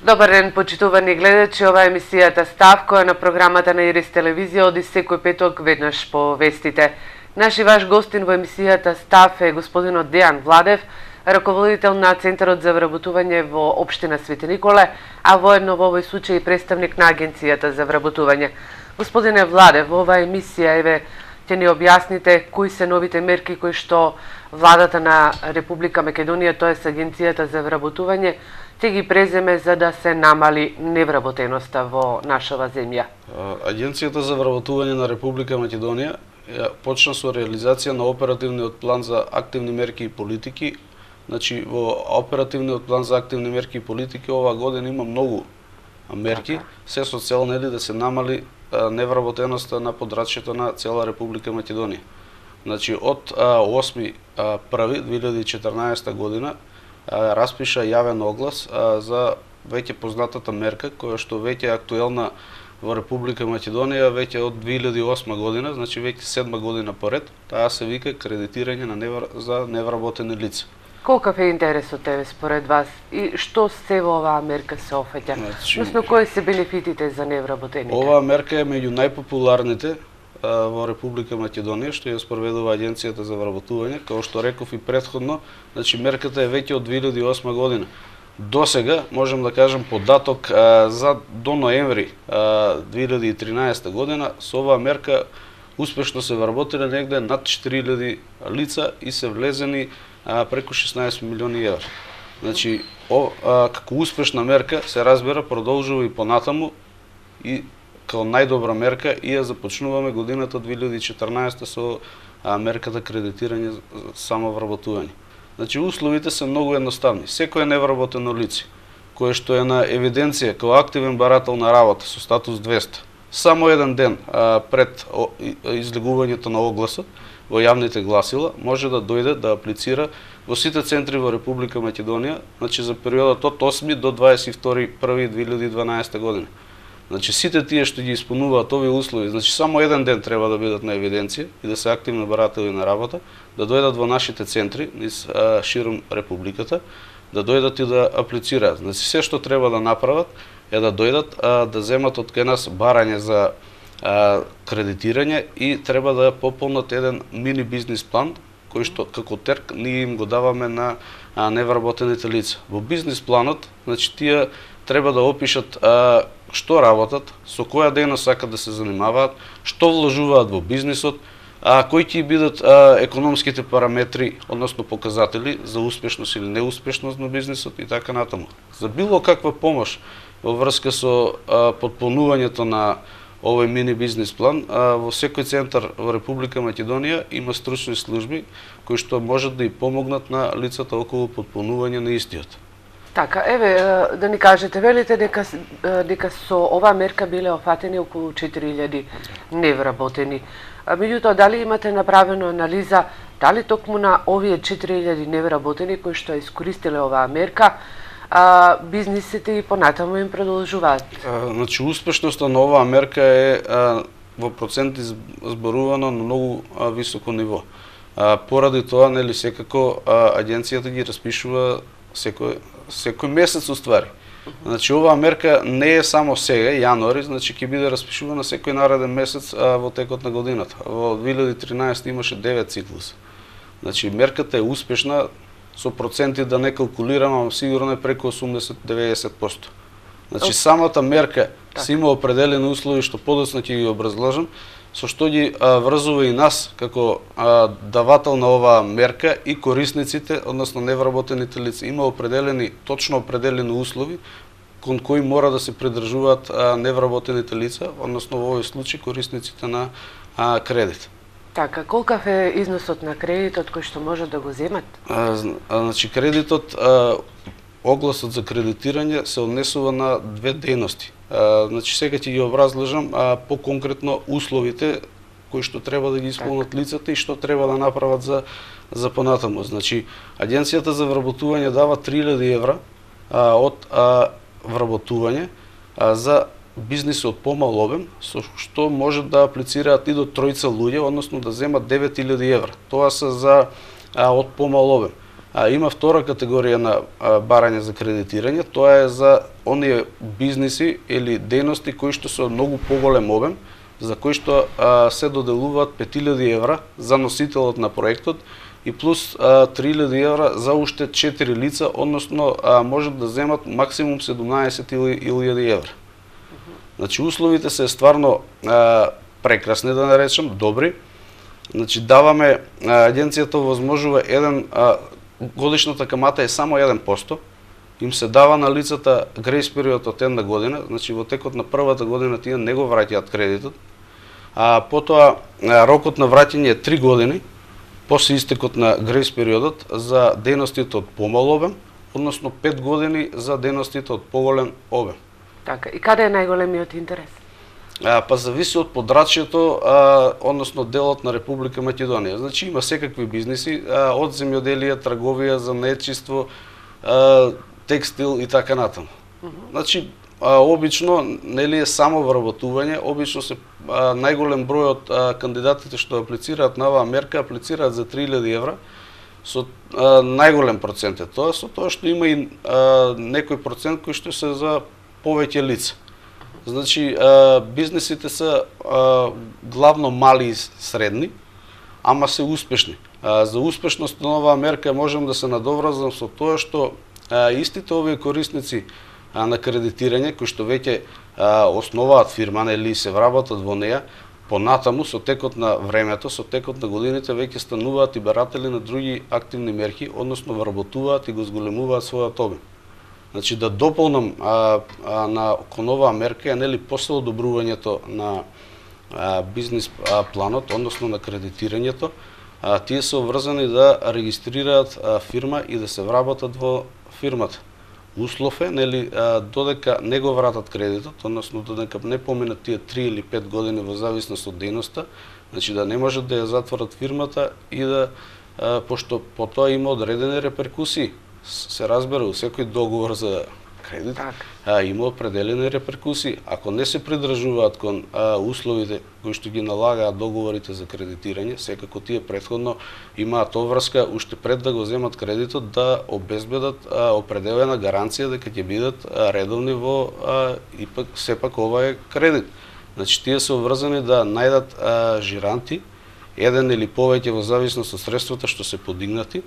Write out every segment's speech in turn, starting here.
Добар ден, почитувани гледачи, ова е емисијата Став, која на програмата на Ирис телевизија оди секој петок веднаш по вестите. Наш и ваш гостин во емисијата Став е господинот Дејан Владев, раководител на Центарот за вработување во општина Свети Николе, а воедно во овој случај представник на Агенцијата за вработување. Господине Владев, во оваа емисија ќе ни објасните кои се новите мерки кои што владата на Република Македонија, тоест Агенцијата за вработување, ќе ги преземе за да се намали невработеноста во нашава земја. Агенцијата за вработување на Република Македонија почна со реализација на оперативниот план за активни мерки и политики. Значи, во оперативниот план за активни мерки и политики оваа година има многу мерки, се со цел да се намали невработеноста на подрачјето на цела Република Македонија. Значи, од 8.1.2014 година распиша јавен оглас за веќе познатата мерка, која што веќе е актуелна во Република Македонија веќе од 2008 година, значи веќе 7 година поред. Таа се вика кредитирање за невработени лица. Колкав е интересот тебе според вас и што се во оваа мерка се офаќа? Односно, кои се бенефитите за невработените? Оваа мерка е меѓу најпопуларните во Република Македонија, што ја спроведува Агенцијата за вработување, како што реков и претходно, значи мерката е веќе од 2008 година. До сега, можем да кажем податок за до ноември 2013 година, со оваа мерка успешно се вработиле негде над 4000 лица и се влезени преку 16 милиони евра. Значи, како успешна мерка се разбира продолжува и понатаму и како најдобра мерка и ја започнуваме годината 2014 со мерката кредитирање за самовработување. Значи, условите се многу едноставни. Секој невработено лице, кое што е на евиденција како активен барател на работа со статус 200, само еден ден пред излегувањето на огласот во јавните гласила, може да дојде да аплицира во сите центри во Република Македонија, значи за периодот од 8 до 22.1.2012 година. Значи, сите тие што ги исполнуваат овие услови, значи само еден ден треба да бидат на евиденција и да се активни баратели на работа, да дојдат во нашите центри низ широм Републиката, да дојдат и да аплицираат. Значи, се што треба да направат е да дојдат да земат од кај нас барање за кредитирање и треба да пополнат еден мини бизнис план, кој што како терк ние им го даваме на невработените лица. Во бизнис планот, значи, тие треба да опишат што работат, со која дејност сакат да се занимаваат, што вложуваат во бизнисот, кои ќе бидат економските параметри, односно показатели за успешност или неуспешност на бизнисот и така натаму. За било каква помош во врска со потполнувањето на овој мини бизнис план, во секој центар во Република Македонија има стручни служби кои што можат да и помогнат на лицата околу потполнување на истиот. Така, да ни кажете, велите дека со оваа мерка биле офатени околу 4000 невработени. Меѓутоа, дали имате направено анализа, дали токму на овие 4000 невработени кои што искористиле оваа мерка, бизнисите и понатаму им продолжуваат? Значи, успешноста на оваа мерка е во проценти зборувано на многу високо ниво. Поради тоа, нели, секако агенцијата ги распишува секој месец уствари. Значи, оваа мерка не е само сега, јануари, значи ќе биде распишувана секој нареден месец во текот на годината. Во 2013 имаше 9 циклуса. Значи, мерката е успешна, со проценти да не калкулирам, сигурно е преку 80-90%. Значи, самата мерка се има определени услови што подоцна ќе ги образложам, со што ги врзува и нас како давател на оваа мерка и корисниците, односно невработените лица. Има точно определени услови кон кои мора да се придржуваат невработените лица, односно во овој случај корисниците на кредит. Така, колкав е износот на кредитот кој што може да го земат? Значи, кредитот, огласот за кредитирање се однесува на две дејности. Значи, сега ќе ги образложам по-конкретно условите кои што треба да ги исполнат лицата и што треба да направат за понатаму. Значи, Агенцијата за вработување дава 3000 евра од вработување за бизниси од помал обем, со што може да аплицираат и до тројца луѓе, односно да земат 9000 евра. Тоа се за од помал обем. Има втора категорија на барање за кредитирање, тоа е за оние бизниси или дејности кои што се од многу поголем обем, за кои што се доделуваат 5000 евра за носителот на проектот и плюс 3000 евра за уште 4 лица, односно можат да земат максимум 17.000 евра. Значи условите се стварно прекрасни, да наречам, добри. Значи даваме, агенцијата возможува годишната камата е само 1%, им се дава на лицата грейс период од една година, значи во текот на првата година тие не го враќаат кредитот, потоа рокот на враќање е 3 години, после истекот на грейс периодот за дејностите од помал обем, односно 5 години за дејностите од поголем обем. Така, и каде е најголемиот интерес? Па зависи од подрачјето, односно делот на Република Македонија. Значи има секакви бизниси, од земјоделие, трговија, занаетчиство, текстил и така натаму. Значи обично нели е само вработување, обично се најголем број од кандидатите што аплицираат на оваа мерка аплицираат за 3000 евра, со најголем процент е тоа, со тоа што има и некој процент кој што се за повеќе лица. Значи, бизнисите се главно мали и средни, ама се успешни. За успешност на оваа мерка можам да се надоврзам со тоа што истите овие корисници на кредитирање, кои што веќе основаат фирма, нели се вработат во неја, понатаму со текот на времето, со текот на годините веќе стануваат и баратели на други активни мерки, односно вработуваат и го зголемуваат својот обем. Значи да дополнам кон оваа мерка е нели после одобрувањето на бизнис планот, односно на кредитирањето, тие се обврзани да регистрираат фирма и да се вработат во фирмата. Услов е нели додека не го вратат кредитот, односно додека не поминат тие 3 или 5 години во зависност од дејноста, значи да не можат да ја затворат фирмата и да пошто потоа има одредени реперкусии. Се разбира, у секој договор за кредит има определени реперкусии. Ако не се придржуваат кон условите кои што ги налагаат договорите за кредитирање, секако тие претходно имаат обврска уште пред да го земат кредитот да обезбедат определена гаранција дека ќе бидат редовни во ипак сепак ова е кредит. Значи тие се обврзани да најдат жиранти, еден или повеќе во зависност од средствата што се подигнати.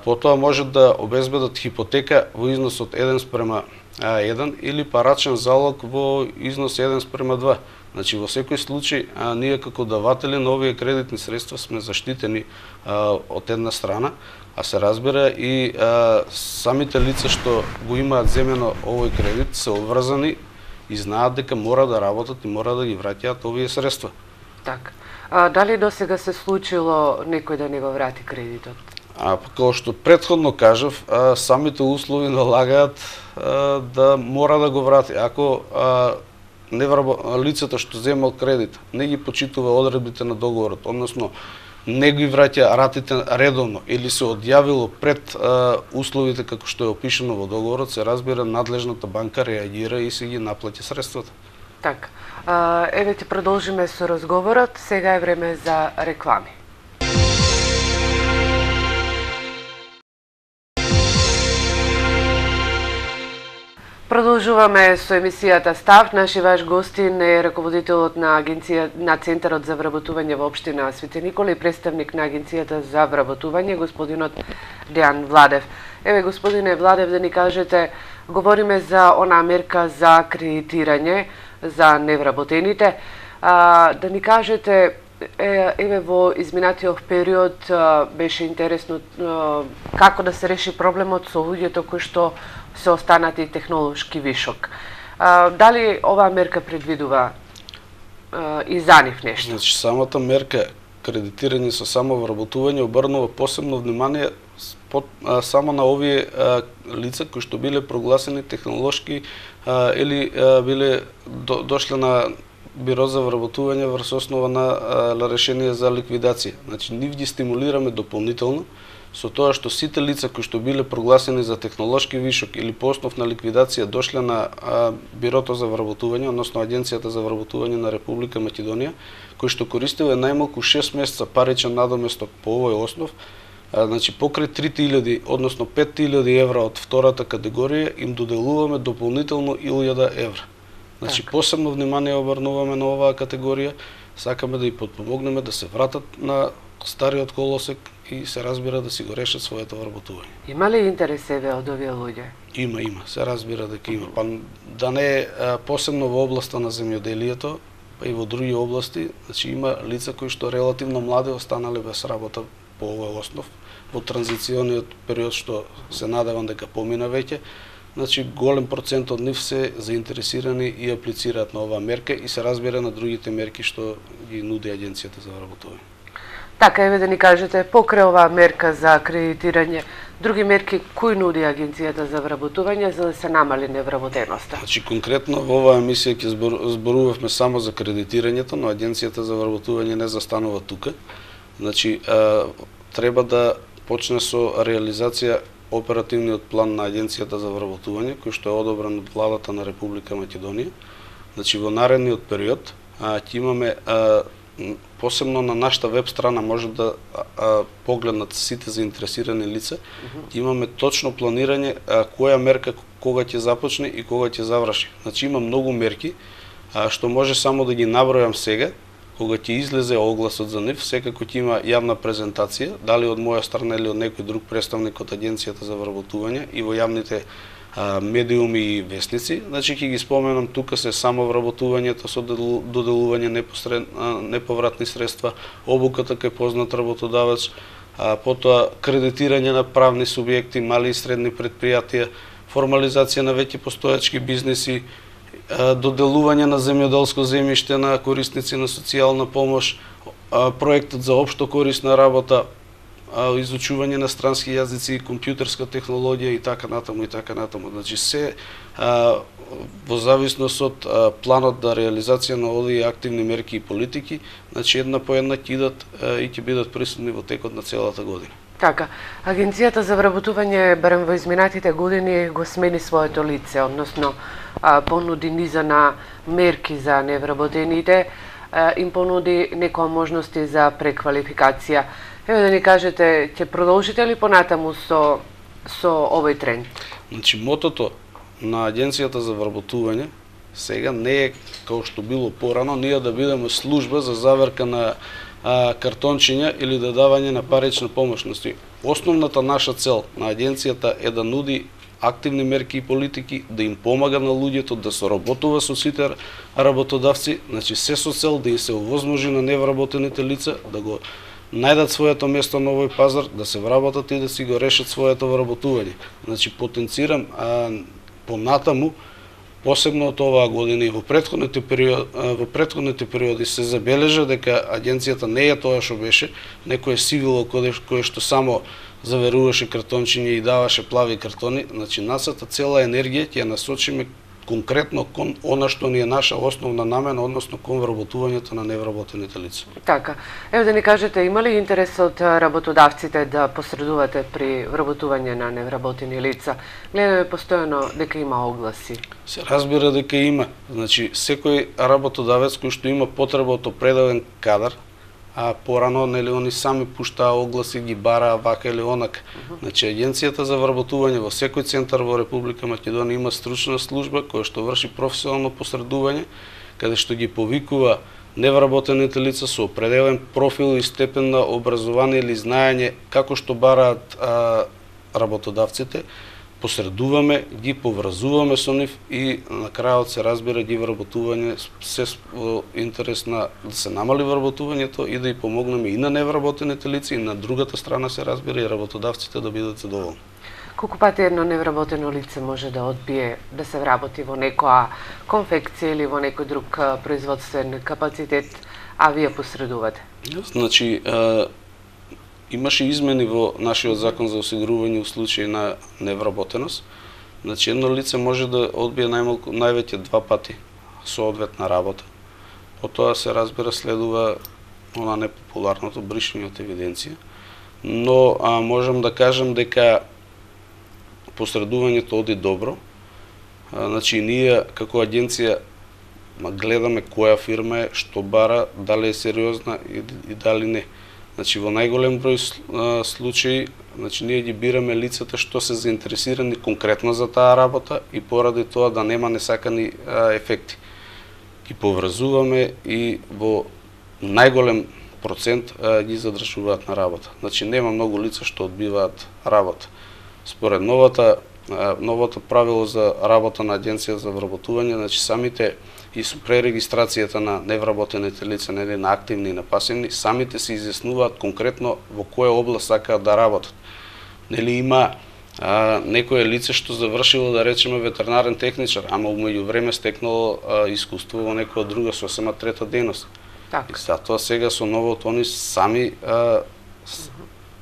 Потоа можат да обезбедат хипотека во износ од 1:1 или парачен залог во износ 1:2. Значи во секој случај ние како даватели на овие кредитни средства сме заштитени од една страна, а се разбира и самите лица што го имаат земено овој кредит се обврзани и знаат дека мора да работат и мора да ги враќаат овие средства. Така. Дали досега се случило некој да не го врати кредитот? Како што претходно кажав, самите услови налагаат да мора да го врати. Ако лицето што земал кредит не ги почитува одредбите на договорот, односно не ги враќа ратите редовно или се одјавило пред условите како што е опишано во договорот, се разбира надлежната банка реагира и се ги наплаќа средствата. Така. Еве ќе продолжиме со разговорот. Сега е време за реклами. Продолжуваме со емисијата Став. Наши ваш гостин е раководителот на Центарот за вработување во општина Свети Никола и представник на Агенцијата за вработување, господинот Дејан Владев. Еве, господине Владев, да ни кажете, говориме за онаа мерка за кредитирање за невработените. Да ни кажете, еве во изминатиот период беше интересно како да се реши проблемот со луѓето кои што се останати технолошки вишок. Дали оваа мерка предвидува и за нив нешто? Значи, самата мерка кредитирање со самовработување обрнува посебно внимание само на овие лица кои што биле прогласени технолошки или биле дошле на Биро за вработување врз основа на решение за ликвидација. Значи, нив ги стимулираме дополнително со тоа што сите лица кои што биле прогласени за технолошки вишок или по основ на ликвидација дошле на Бирото за вработување, односно Агенцијата за вработување на Република Македонија, кои што користеле најмалку 6 месеца паричен надоместок по овој основ, Значи покрај 3000, односно 5000 евра од втората категорија им доделуваме дополнително 1000 евра. Значи посебно внимание обрнуваме на оваа категорија, сакаме да ја подпомогнеме да се вратат на стариот колосек и се разбира да си го решат своето вработување. Има ли интерес еве од овие луѓе? Има, се разбира дека има. Па да не посебно во областа на земјоделието, па и во други области, значи има лица кои што релативно млади останале без работа по овој основ, во транзициониот период што се надевам дека помина веќе. Значи голем процент од нив се заинтересирани и аплицираат на оваа мерка и се разбира на другите мерки што ги нуди Агенцијата за вработување. Така, еве да ни кажете, покрај оваа мерка за акредитирање, други мерки кои нуди Агенцијата за вработување за да се намали невработеноста? Значи конкретно во оваа емисија ќе зборувавме само за кредитирањето, но Агенцијата за вработување не застанува тука. Значи треба да почне со реализација оперативниот план на Агенцијата за вработување, кој што е одобрен од владата на Република Македонија. Значи во наредниот период ќе имаме посебно на нашата веб страна може да погледнат сите заинтересирани лица. Имаме точно планирање која мерка кога ќе започне и кога ќе заврши. Значи има многу мерки што може само да ги набројам сега. Кога ќе излезе огласот за нив, секако ќе има јавна презентација, дали од моја страна или од некој друг представник од Агенцијата за вработување и во јавните медиуми и весници. Значи ќе ги споменам тука се само вработувањето со доделување неповратни средства, обуката кај познат работодавач, потоа кредитирање на правни субјекти, мали и средни предпријатија, формализација на веќе постојачки бизниси, доделување на земјоделско земјиште на корисници на социјална помош, проектот за општо корисна работа, изучување на странски јазици, компјутерска технологија и така натаму и така натаму. Значи се во зависност од планот за реализација на овие активни мерки и политики, значи една по една ќе идат и ќе бидат присутни во текот на целата година. Така, Агенцијата за вработување барем во изминатите години го смени своето лице, односно понуди низа на мерки за невработените, им понуди некои можности за преквалификација. Еве да ни кажете, ќе продолжите ли понатаму со овој тренд? Значи мотото на Агенцијата за вработување сега не е како што било порано, ние да бидеме служба за заверка на картончиња или да давање на парична помош. Основната наша цел на Агенцијата е да нуди активни мерки и политики, да им помага на луѓето, да соработува со сите работодавци, значи се со цел да им се овозможи на невработените лица да го најдат своето место на овој пазар, да се вработат и да си го решат своето вработување. Значи потенцирам понатаму, посебно од оваа година и во претходните периоди се забележа дека Агенцијата не е тоа што беше, некое сивило кое што само заверуваше картончиња и даваше плави картони. Значи нашата цела енергија ќе ја насочиме конкретно кон она што ни е наша основна намена, односно кон вработувањето на невработените лица. Така, еве да ни кажете, има ли интерес од работодавците да посредувате при вработување на невработени лица? Гледаме постојано дека има огласи. Се разбира дека има. Значи секој работодавец кој што има потреба од определен кадар, порано нели они сами пуштаа огласи, ги бараа вака или онака. Значи Агенцијата за вработување во секој центар во Република Македонија има стручна служба која што врши професионално посредување, каде што ги повикува невработените лица со определен профил и степен на образование или знаење како што бараат работодавците, посредуваме, ги поврзуваме со нив и на крајот се разбира ги вработување се во интерес на да се намали вработувањето и да и помогнеме и на невработените лица и на другата страна се разбира и работодавците да бидат задоволни. Колку пати едно невработено лице може да одбие да се вработи во некоја конфекција или во некој друг производствен капацитет, а вие посредувате? Значи, имаше измени во нашиот закон за осигурување у случај на невработеност. Значи едно лице може да одбие највеќе 2 пати соодветна работа. Потоа се разбира следува она непопуларното бришање од евиденција. Но можам да кажам дека посредувањето оди добро. Значи ние како агенција гледаме која фирма е, што бара, дали е сериозна и дали не. Значи во најголем број случаи, значи ние ги бираме лицата што се заинтересирани конкретно за таа работа и поради тоа да нема несакани ефекти. Ги поврзуваме и во најголем процент ги задржуваат на работа. Значи нема многу лица што одбиваат работа. Според новото правило за работа на Агенција за вработување, значи самите и со пререгистрацијата на невработените лица, нели на активни и на пасивни, самите се изјаснуваат конкретно во која област сакаат да работат. Нели има некое лице што завршило, да речеме, ветеринарен техничар, ама умеѓу време стекнало искуство во некоја друга сосема трета дејност. И затоа сега со новото они сами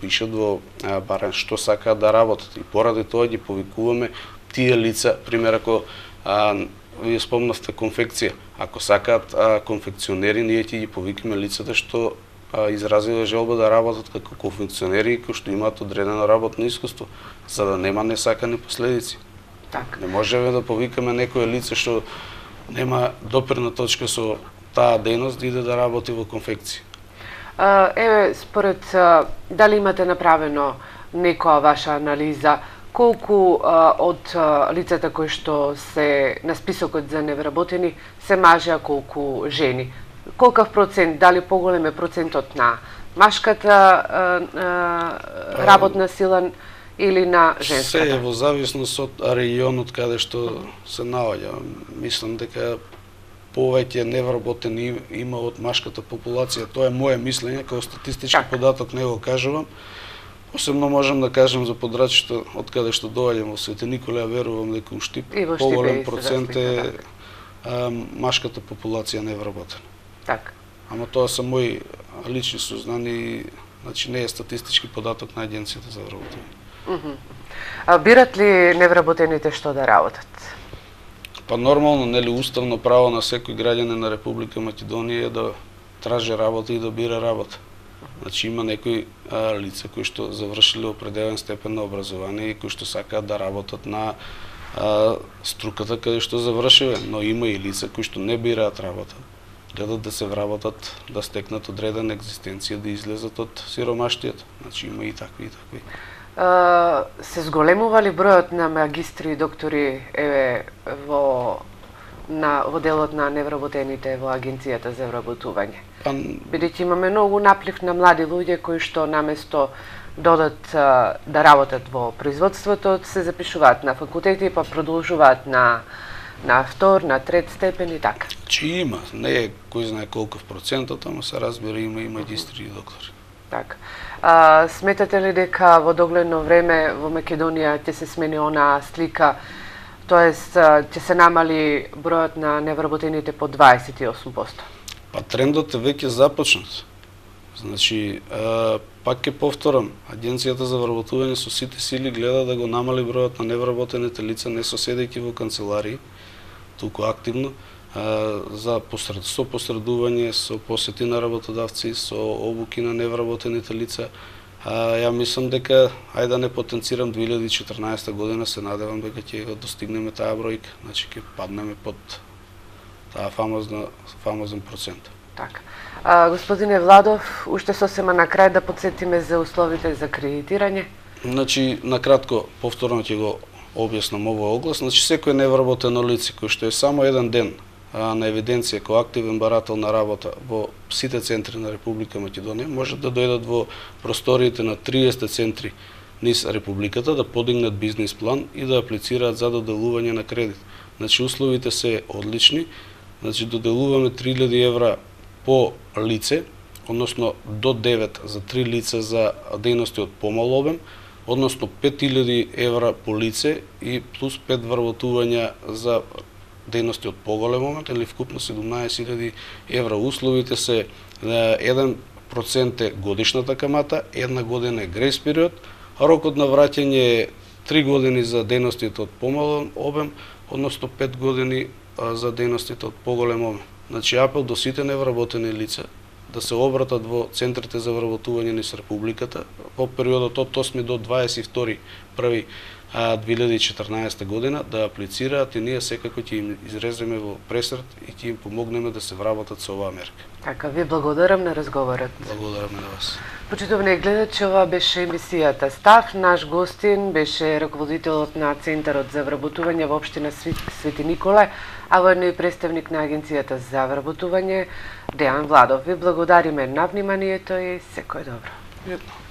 пишат во барем што сакаат да работат и поради тоа ги повикуваме тие лица, пример ако вие спомнавте конфекција, ако сакаат конфекционери, ние ќе ги повикаме лицата што изразиле желба да работат како конфекционери кои што имаат одредено работно искуство, за да нема несакани последици. Не можеме да повикаме некое лице што нема допирна точка со таа дејност да иде да работи во конфекција. Еве, според дали имате направено некоја ваша анализа, колку од лицата кои што се на списокот за невработени се мажи, а колку жени? Колкав процент, дали поголем е процентот на машката работна сила или на женската? Се е во зависност од регионот каде што се наоѓа. Мислам дека повеќе невработени има од машката популација. Тоа е моje мислење, како статистички податок не го кажувам. Посебно можам да кажам за Подрачето, од каде што доаѓам во Свети Николе, верувам дека у Штип поголем процент е машката популација невработена. Ама тоа се мои лични сознани, значи не е статистички податок на Агенцијата за вработување. Бират ли невработените што да работат? Па нормално, нели уставно право на секој граѓанин на Република Македонија е да тражи работа и да бира работа. Значи има некои лица кои што завршиле определен степен на образование и кои што сакаат да работат на струката каде што завршиле, но има и лица кои што не бираат работа. Гледат да се вработат, да стекнат одредена екзистенција, да излезат од сиромаштијата. Значи има и такви и такви. Се зголемува ли бројот на магистри и доктори во делот на невработените во Агенцијата за вработување? Бидејќи имаме многу наплив на млади луѓе кои што наместо додат да работат во производството, се запишуваат на факултети па продолжуваат на втор, на трет степен и така. Чи има, не е кој знае колков процентот, ама се разбира има и магистри и доктори. Така. Сметате ли дека во догледно време во Македонија ќе се смени онаа слика, тоест ќе се намали бројот на невработените по 28%? Па трендот е веќе започнат. Значи, пак ќе повторам, Агенцијата за вработување со сите сили гледа да го намали бројот на невработените лица, не соседејќи во канцеларии, туку активно, со посредување, со посети на работодавци, со обуки на невработените лица. Ја мислам дека, ајде да не потенцирам, 2014 година се надевам дека ќе го достигнеме таа бројка, значи ќе паднеме под таа фамозен процент. Така. Господине Владов, уште сосема на крај да подсетиме за условите за кредитирање. Значи, накратко, повторно ќе го објаснам овој оглас. Значи, секој невработено лице кој што е само еден ден на евиденција кој активен барател на работа во сите центри на Република Македонија, може да дојдат во просториите на 30 центри низ Републиката, да подигнат бизнис план и да аплицираат за доделување на кредит. Значи, условите се одлични. Значи, доделуваме 3000 евра по лице, односно до 9 за 3 лица за дејности од помал обем, односно 5000 евра по лице и плюс 5 вработувања за дејности од поголем момент, или вкупно 17.000 евра. Условите се 1% е годишната камата, 1 година е грејс период, а рокот на враќање е 3 години за дејностите од помал обем, односно 5 години за дејностите од поголем обем. Значи, апел до сите невработени лица да се обратат во центрите за вработување низ Републиката во периодот од 8 до 22.1. 2014 година да аплицираат и ние секако ќе им изреземе во пресрет и ќе им помогнеме да се вработат со оваа мерка. Така, ви благодарам на разговорот. Благодарам на вас. Почитувани гледачи, ова беше емисијата Став. Наш гостин беше раководителот на Центарот за вработување во општина Свети Николај, а воедно и представник на Агенцијата за вработување Дејан Владов. Ви благодариме на вниманието и секој добро. Едно.